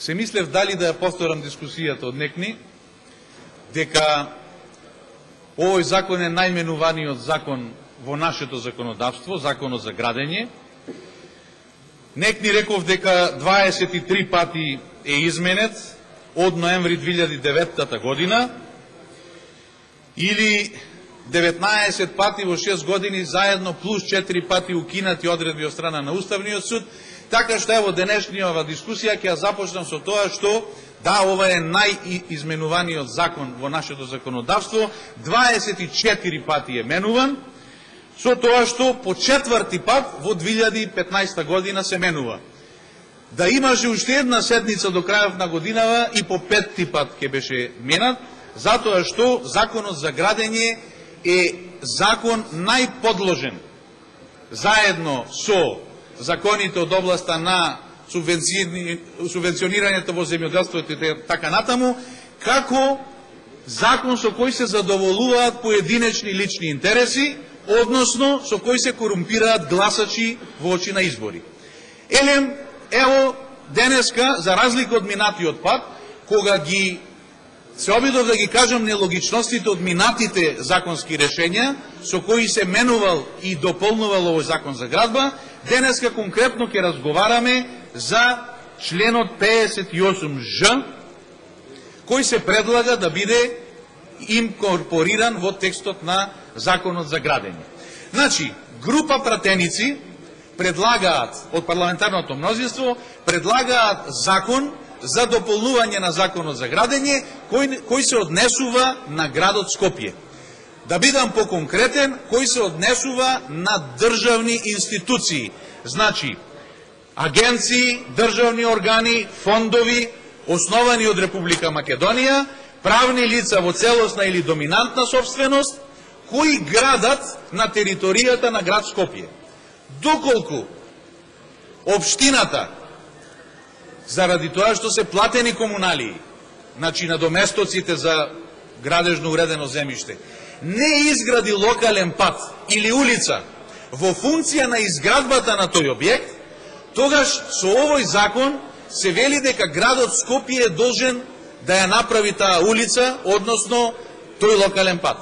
се мислев дали да ја повторам дискусијата од некни, дека овој закон е најменуваниот закон во нашето законодавство, законот за градење. Некни реков дека 23 пати е изменет од ноември 2009 година, или 19 пати во 6 години заедно, плюс 4 пати укинати одредби од страна на Уставниот суд, така што ево денешниот дискусија ќе ја започнам со тоа што да, ова е најизменуваниот закон во нашето законодавство, 24 пати е менуван, со тоа што по 4-ти пат во 2015 година се менува. Да имаше уште една седница до крајот на годинава и по 5-ти пат ќе беше менат, затоа што законот за градење е закон најподложен, заедно со законите од областа на субвенционирањето во земјоделството и така натаму, како закон со кој се задоволуваат поединечни лични интереси, односно со кој се корумпираат гласачи во очи на избори. Ево, денеска, за разлика од минатиот пат, кога се обидов да ги кажам нелогичностите од минатите законски решења, со кои се менувал и дополнувал овој закон за градба, денеска конкретно ќе разговараме за членот 58Ж, кој се предлага да биде инкорпориран во текстот на законот за градење. Значи, група пратеници предлагаат, од парламентарното мнозинство, предлагаат закон за дополнување на законот за градење, кој се однесува на градот Скопје. Да бидам поконкретен, кој се однесува на државни институции, значи агенции, државни органи, фондови, основани од Република Македонија, правни лица во целосна или доминантна собственост, кои градат на територијата на град Скопје. Доколку општината, заради тоа што се платени комуналии, значи на доместоците за градежно уредено земјиште, не изгради локален пат или улица во функција на изградбата на тој објект, тогаш со овој закон се вели дека градот Скопје е должен да ја направи таа улица, односно тој локален пат.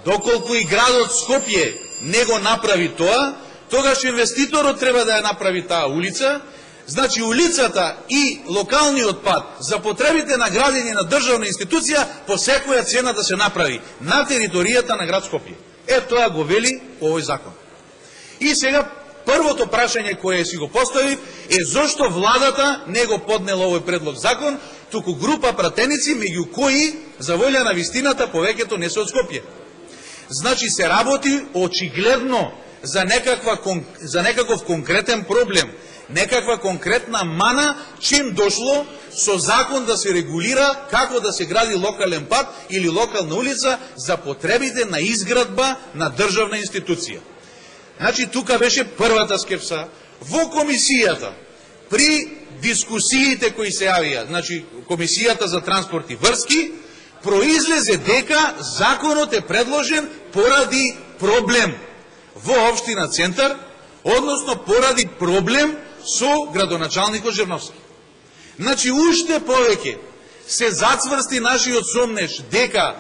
Доколку и градот Скопје не го направи тоа, тогаш инвеститорот треба да ја направи таа улица. Значи улицата и локалниот пат за потребите на градење на државна институција по секоја цена да се направи на територијата на град Скопје. Тоа го вели овој закон. И сега првото прашање кое си го поставив е зошто владата не го поднела овој предлог закон, туку група пратеници, меѓу кои, за волја на вистината, повеќето не се од Скопје. Значи се работи очигледно за некаков конкретен проблем, некаква конкретна мана, чим дошло со закон да се регулира како да се гради локален пат или локална улица за потребите на изградба на државна институција. Значи, тука беше првата скепса. Во комисијата, при дискусиите кои се јавија, значи, комисијата за транспорт и врски, произлезе дека законот е предложен поради проблем во општина Центар, односно поради проблем со градоначалникот Жерновски. Значи, уште повеќе се зацврсти нашиот сомнеш дека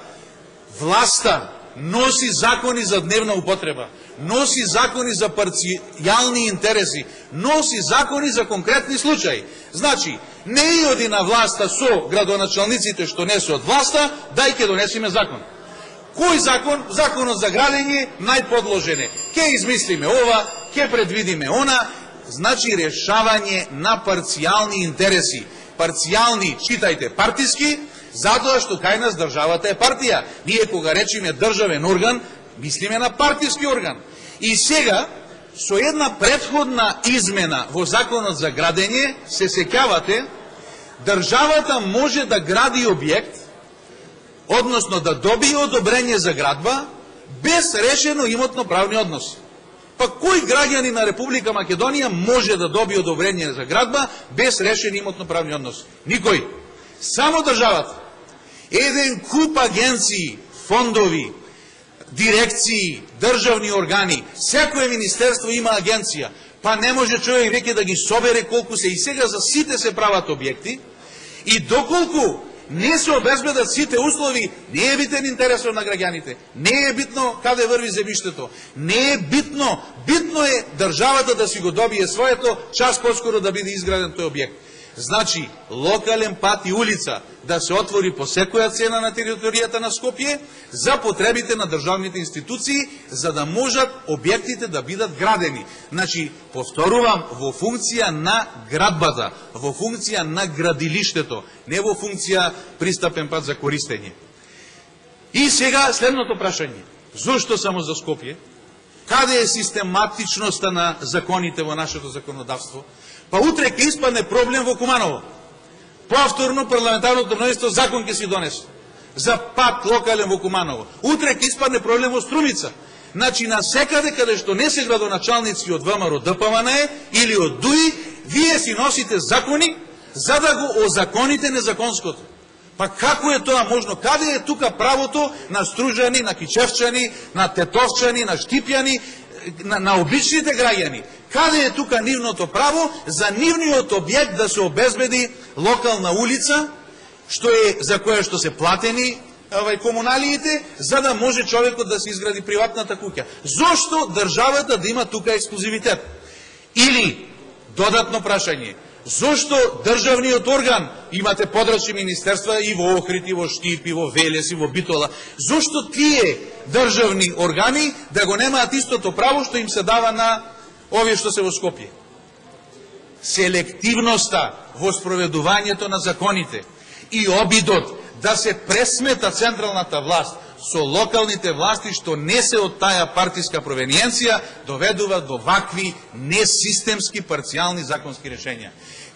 власта носи закони за дневна употреба, носи закони за парцијални интереси, носи закони за конкретни случаи. Значи, не и оди на власта со градоначалниците што не се од власта, дај ќе донесиме закон. Кој закон? Законот за градење најподложене. Ке измислиме ова, ке предвидиме она. Значи решавање на парцијални интереси. Парцијални, читајте, партиски, затоа што кај нас државата е партија. Ние кога речиме државен орган, мислиме на партиски орган. И сега, со една претходна измена во законот за градење, се сеќавате, државата може да гради објект, односно да добие одобрење за градба, без решено имотно-правни односи. Па кој граѓани на Република Македонија може да добие одобрење за градба без решени имотно-правни односи? Никој. Само државата. Еден куп агенции, фондови, дирекции, државни органи, секој министерство има агенција, па не може човек веќе да ги собере колку се и сега за сите се прават објекти, И доколку не се обезбедат сите услови, не е битен интересот на граѓаните, не е битно каде врви земјиштето, не е битно, битно е државата да си го добие своето, час поскоро да биде изграден тој објект. Значи, локален пат и улица да се отвори по секоја цена на територијата на Скопје за потребите на државните институции, за да можат објектите да бидат градени. Значи, повторувам, во функција на градбата, во функција на градилиштето, не во функција пристапен пат за користење. И сега следното прашање. Зошто само за Скопје? Каде е систематичноста на законите во нашето законодавство? Па утре ќе испадне проблем во Куманово. Повторно парламентарното мнозинство закон ќе си донесе за пат локален во Куманово. Утре ќе испадне проблем во Струмица. Значи, на секаде каде што не се градоначалници од ВМРО ДПМН или од ДУИ, вие си носите закони за да го озаконите незаконското. Па како е тоа можно? Каде е тука правото на стружани, на кичевчани, на тетовчани, на штипјани, на обичните граѓани? Каде е тука нивното право за нивниот објект да се обезбеди локална улица, што е за која што се платени комуналиите, за да може човекот да се изгради приватната куќа? Зошто државата да има тука ексклузивитет? Или, додатно прашање, зошто државниот орган, имате подрачни министерства и во Охрид, и во Штип, и во Велес, и во Битола, зошто тие државни органи да го немаат истото право што им се дава на овие што се во Скопје? Селективноста во спроведувањето на законите и обидот да се пресмета централната власт со локалните власти што не се од таа партиска провениенција, доведува до вакви несистемски парцијални законски решења.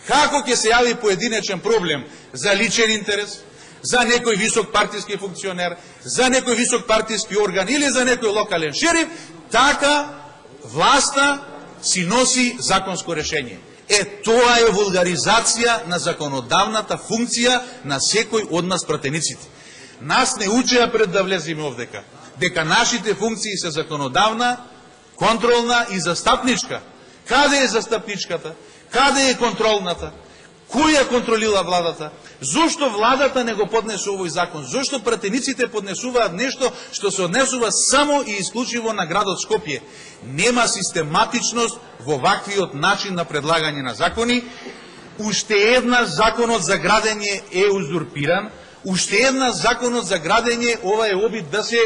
Како ќе се јави поединечен проблем за личен интерес, за некој висок партиски функционер, за некој висок партиски орган или за некој локален шериф, така власта си носи законско решење. Тоа е вулгаризација на законодавната функција на секој од нас пратениците. Нас не учеа пред да влеземе овдека, дека нашите функции се законодавна, контролна и застапничка. Каде е застапничката? Каде е контролната? Кој ја контролила владата? Зошто владата не го поднесе овој закон? Зошто пратениците поднесуваат нешто што се однесува само и исклучиво на градот Скопје? Нема систематичност во ваквиот начин на предлагање на закони. Уште една законот за градење е узурпиран. Уште една законот за градење, ова е обид да се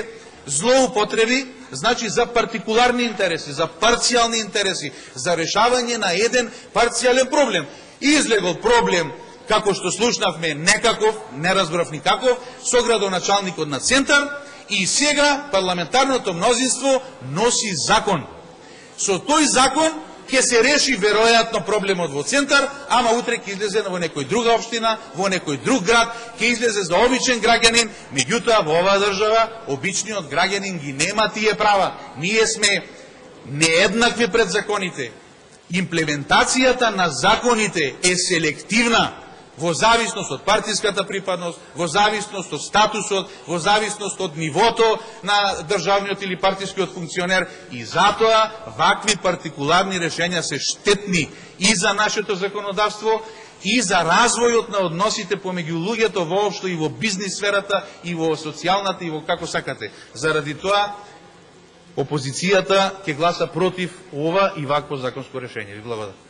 злоупотреби, значи за партикуларни интереси, за парцијални интереси, за решавање на еден парцијален проблем. Излегол проблем, како што слушнавме, некаков, не разбрав никаков, со градоначалникот на Центар, и сега парламентарното мнозинство носи закон. Со тој закон ќе се реши веројатно проблемот во Центар, ама утре ќе излезе во некој друга општина, во некој друг град, ќе излезе за обичен граѓанин, меѓутоа во оваа држава обичниот граѓанин ги нема тие права. Ние сме нееднакви пред законите. Имплементацијата на законите е селективна во зависност од партиската припадност, во зависност од статусот, во зависност од нивото на државниот или партискиот функционер, и затоа вакви партикуларни решења се штетни и за нашето законодавство, и за развојот на односите помеѓу луѓето воопшто и во бизнис сферата, и во социјалната, и во како сакате. Заради тоа, опозицијата ќе гласа против ова и вакво законско решење. Ви благодарам.